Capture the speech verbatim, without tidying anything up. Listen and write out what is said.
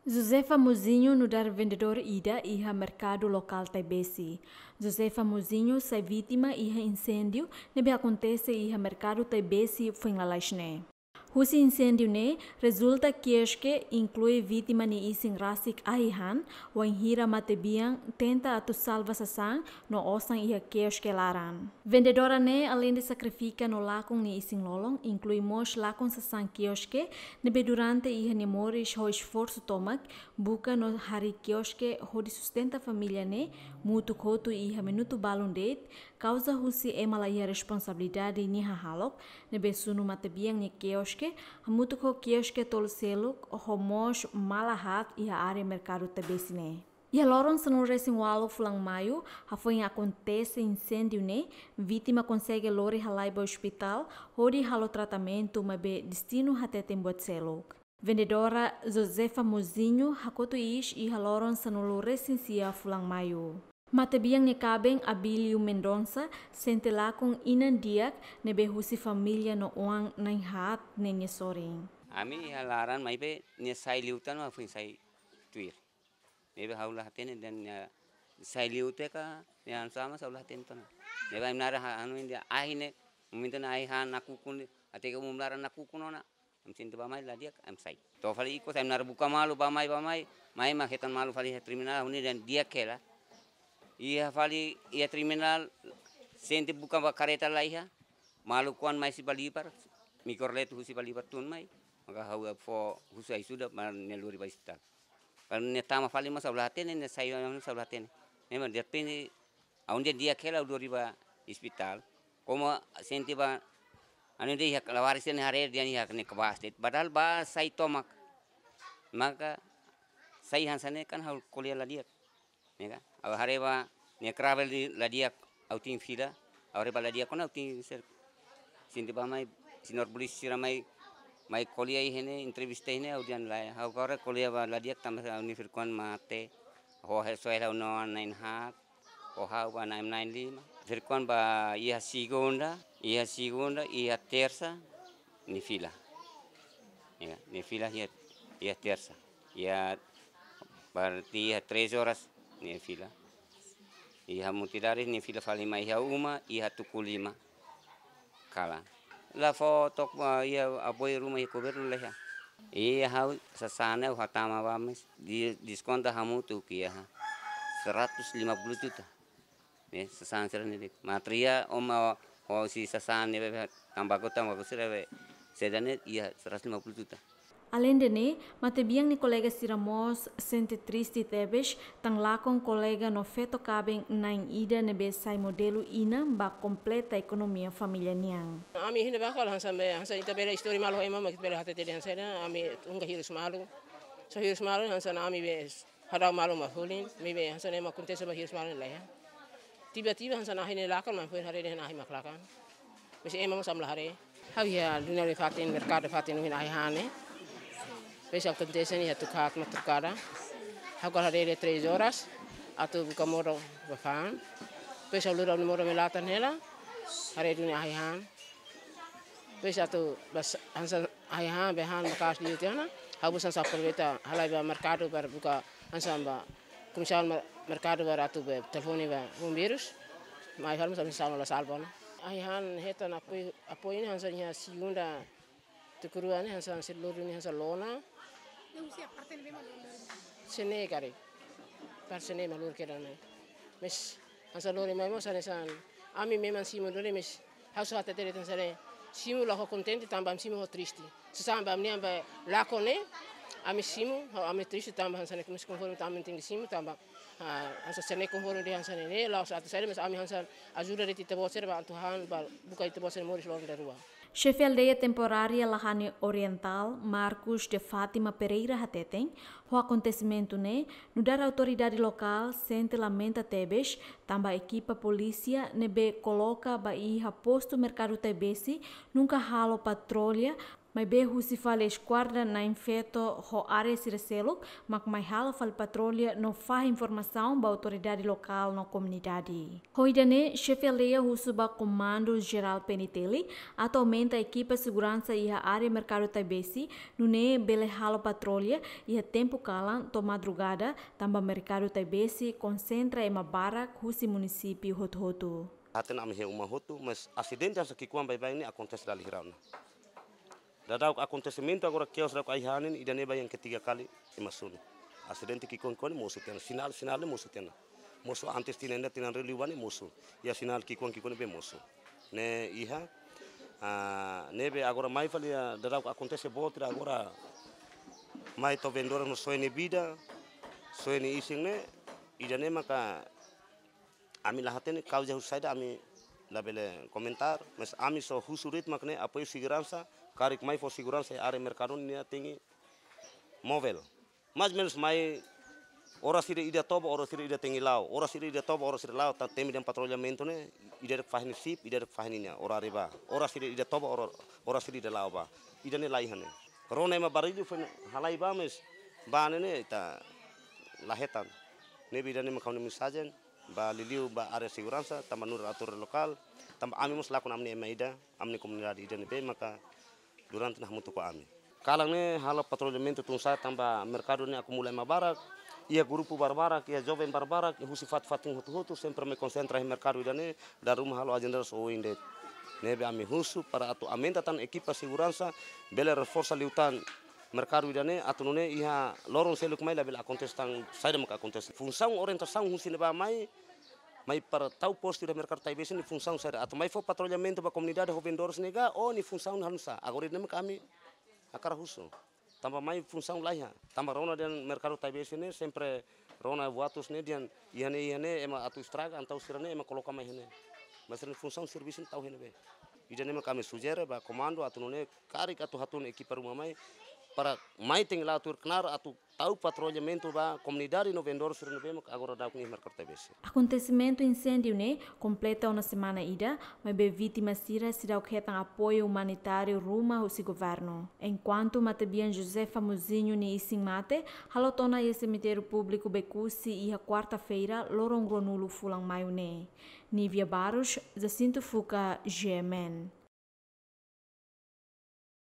Josefa Mozinho nu'udar vendedór ida iha merkadu lokál Taibesi. Josefa Mozinho sai vítima iha inséndiu ne'ebé akontese iha merkadu Taibesi foin lalais ne'e. Husi inséndiu ne'e rezulta kioske, inklui vítima nia isin rasik ahi han, wainhira matebian tenta atu salva sasán no osan iha kioske laran. Vendedora ne'e aleinde sakrifika no lakon nia isin-lolon, inklui mós lakon sasán kioske, ne'ebé durante iha nia moris ho esforsu tomak buka no harii kioske hodi sustenta família ne'e, mutuk hotu iha minutu balun de'it, kauza husi ema la iha responsabilidade nia hahalok, ne'ebé sunu matebian nia kioske, hamutuk ho kioske tolu seluk, ho mós mala haat iha área merkadu Taibesi ne'e. Iha loron sanulu-resin-ualu fulan Maiu, hafoin akontese inséndiu ne'e, vítima konsege lori halai ba ospitál, hodi halo tratamentu, maibé destinu hateten buat seluk. Vendedora Josefa Mozinho hakotu iis iha loron sanulu-resin-sia fulan Maiu. Matebian nia kaben Abílio Mendonça sente lakon inan di'ak ne'ebé husi família no oan na'in haat ne'e nia sorin. Ami iha laran maibé nia sai liután mak foin sai tuir. Ne'ebé ha'u la hatene dehan nia sai liu tiha ka, nia anu sama ha'u la hatene tiha ona. Ne'ebé ami naran ha-, anu nia ahi ne'e, momentu ne'e ahi han nakukun, até ke umum laran nakukun ona. Ami sente bá-mai la di'ak, ami sai. To'o fali ikus, ami naran buka malu, bá-mai, bá-mai, mai mak hetan malu fali iha terminál, ha'u-nia dehan di'ak hela. Iha fali, iha terminál, sente buka ba kareta la iha, malu kuan mai husi Balibar, Mikrolet husi Balibar tun mai, maka ha'u fó husu ajuda, ba nia lori ba ospitál. Kalau nia tama fali mós ha'u la hatene, nia sai mós ha'u la hatene. Memang derrepente, ha'u dehan di'ak hela ha'u lori ba ospitál. Komu sente ba, anu dehan iha lawaris ne'e haree dehan iha ne'e kabas de'it. Padahal bá sai tomak. Maka sai hanesan ne'e kan ha'u ko'alia la di'ak. Ne'e ka? Ha'u haree ba nia kravel di la di'ak ha'u tin fila. Ha'u haree ba la di'ak ona ha'u tin ser. Sente bá-mai, señór polísia sira mai, mai ko'alia iha ne'e, entrevista iha ne'e, ha'u dehan lae. Ha'u agora ko'alia ba la di'ak tanba ha'u-nia fir-kuan mate. Ho he soe ha'u-nia oan na'in haat. Ho ha'u ba na'in, na'in lima. Fir-kuan ba iha segunda, iha segunda, iha tersa, nia fila. Ya, nia fila iha, iha tersa. Iha, berarti iha três horas nia fila. Iha Mutidaris nia fila fali mai iha uma, iha tuku lima. Kalan. La fó took ba iha apoiu ruma iha governu la iha. Iha ha'u sasán ne'e ha'u hatama ba mós di-, deskonta hamutuk iha seratus lima puluh juta. Ne'e, sasán sira-ne'e de'it. Materiál, uma, ho si sasán ne'ebé, tanbaku, tanbaku sira-ne'ebé, saida ne'e iha seratus lima puluh juta. Aleinde ne'e, matebian nia kolega sira mós sente triste tebes, tan lakon kolega no feto kaben na'in ida ne'ebé sai modelu inan ba kompleta ekonomia família nian. Ami hine bakal hanesan be, hanesan ita bele istori malu ho ema, mak ita bele hatete dehan saida, ami ungga hirus malu. Só hirus malu hanesan ami be hadau malu mak hulin, maibé hanesan ne'e mak akontese ba hirus malu la iha. Tiba-tiba hanesan ahi ne'e lakon, mak foin haree dehan ahi mak lakon. Maibé ema mós ami la haree. Ha'u iha duni ne'e fatin, merkadu fatin, duni ahi han ne'e. Depois akontese ne'e iha tuku haat mak trukada. Ha'u agora haree dehan três horas, atu buka modo ba fa'an. Depois ha'u lori ha'u-nia modo mai latan hela, haree duni ahi han. Depois atu bá hanesan ahi han, be han maka'as liu tiha ona, ha'u mós hanesan aproveita halai ba merkadu para buka hanesan ba komisaun mer-, merkadu para atu be telefone ba bombeirus. Mai fali mós ami sala la salva ona. Ahi han hetan apoiu, apoiu ne'e hanesan iha segunda tuku rua ne'e hanesan sira lori ne'e hanesan lona. Yang usia parte ne'ebé mak lori. Sene kari. Parte ne'e mak lori kedan mai. Maibé hanesan lori mai mós hanesan ami memang simu lori maibé ha'u só hatete dehan hanesan ne'e. Simu la ho kontente tanba ami simu ho triste. Sasán ba ami-nian ba lakon ne'e, ami simu, ho ami triste tanba hanesan ne'e, maibé konforme tanba ami tenke simu tanba, ah, hanesan sira-ne'e konforme dehan hanesan ne'e, la'ós atu saida, maibé ami hanesan ajuda de'it ita-boot sira ba atu han ba buka ita-boot sira moris loron dadeer rua. Xefe aldeia temporária Lahane Orientál, Marcos de Fátima Pereira hateten, ho akontesimentu ne'e, nu'udar autoridade lokál sente lamenta tebes, tanba ekipa polísia ne'ebé koloka ba iha postu merkadu Taibesi nunka halo patrulla Maibé husi fali eskuadra na'in feto ho área sira seluk mak mai halo fali patrulla no fahe informasaun ba autoridade lokál no komunidade. Ho ida-ne'e, xefe aldeia husu ba Komandu Jerál P N T L atu aumenta ekipa seguransa iha área Merkadu Taibesi, nune'e bele halo patrulla iha tempu kalan to'o madrugada, tanba Merkadu Taibesi konsentra ema barak husi munisípiu hotu-hotu. Hatene ami iha uma hotu, mas asidente hanesan ki'ikoan baibain ne'e akontese dala hira ona. Dadauk akontesimentu agora kios dadauk ai-han ne'e, ida-ne'e ba yang ketiga kali ema sunu. Asidente ki'ikoan-ki'ikoan ne'e mosu tiha ona, sinál, sinál ne'e mosu tiha ona. Mosu antes tinan ida, tinan rua liubá ne'e mosu. Iha sinál ki'ikoan-ki'ikoan ne'ebé mosu. Ne'e iha, ah, ne'ebé agora mai fali iha dadauk akontese boot ida agora mai to'o vendedores no soe nia vida, soe nia isin ne'e, ida-ne'e maka ami la hatene kauza husi saida, ami labele komentar, mas ami só husu de'it mak ne'e apoiu seguransa, karik mai fó seguransa iha área merkadu ne'e tenke movel. Mais menus mai oras ida ida toba, oras ida ida tenke la'o, oras ida ida toba, oras ida la'o, tanba temi dehan patrullamentu ne'e, ida de'it fahe nia sip, ida de'it fahe ninia oráriu ba. Oras ida ida toba, ora-, oras ida ida la'o ba. Ida-ne'e la iha ne'e. Rona ema barullu foin halai ba, mas ba ne'e ne'e ita la hetan. Ne'ebé ida-ne'e mak ha'u-nia mensajen ba liuliu ba área seguransa, tanba nu'udar autoridade lokál, tanba ami mós lakon ami-nia ema ida, ami-nia komunidade ida ne'ebé maka durante ne'e hamutuk ho ami. Kalan ne'e halo patrullamentu tun sa'e tanba merkadu ne'e akumula ema barak, iha grupu barbarak, iha joven barbarak, iha husi fatin-fatin hotu-hotu, sempre mai konsentra iha merkadu ida-ne'e, dala ruma halo ajendas oin de'it. Ne'ebé ami husu para atu aumenta tan ekipa seguransa, bele reforsa liután merkadu ida-ne'e, atu nune'e iha loron seluk mai labele akontese tan saida maka akontese. Funsaun orientasaun husi ne'ebá mai, mai para tau postu iha merkadu Taibesi nia funsaun saida, atu mai fó patrullamentu ba komunidade ho vendedores ne'e ka, ou nia funsaun hanesan. Agora ida-ne'e mak ami hakarak husu. Tanba mai funsaun la iha. Tanba rona dehan merkadu Taibesi ne'e sempre rona boatus ne'e dehan iha ne'e, iha ne'e ema atu estraga, entaun sira-ne'e ema koloka mai iha ne'e. Mas sira-nia funsaun servisu ne'e tau iha ne'ebé. Ida-ne'e mak ami sujere ba komandu atu nune'e karik atu hatun ekipa ruma mai para mai tenke la'o tuir knaar atu tau patrullamentu ba komunidade no vendedor sira ne'ebé mak agora dadauk iha merkadu Taibesi. Akontesimentu inséndiu ne'e kompleta ona semana ida, maibé vítima sira seidauk hetan apoiu umanitáriu ruma husi governu. Enkuantu matebian Josefa Mozinho nia isin mate halot ona iha semitériu públiku Becusse iha kuarta-feira, loron ruanulu fulan Maiu ne'e. Nívia Barros, Jacinto Fuca, G M N.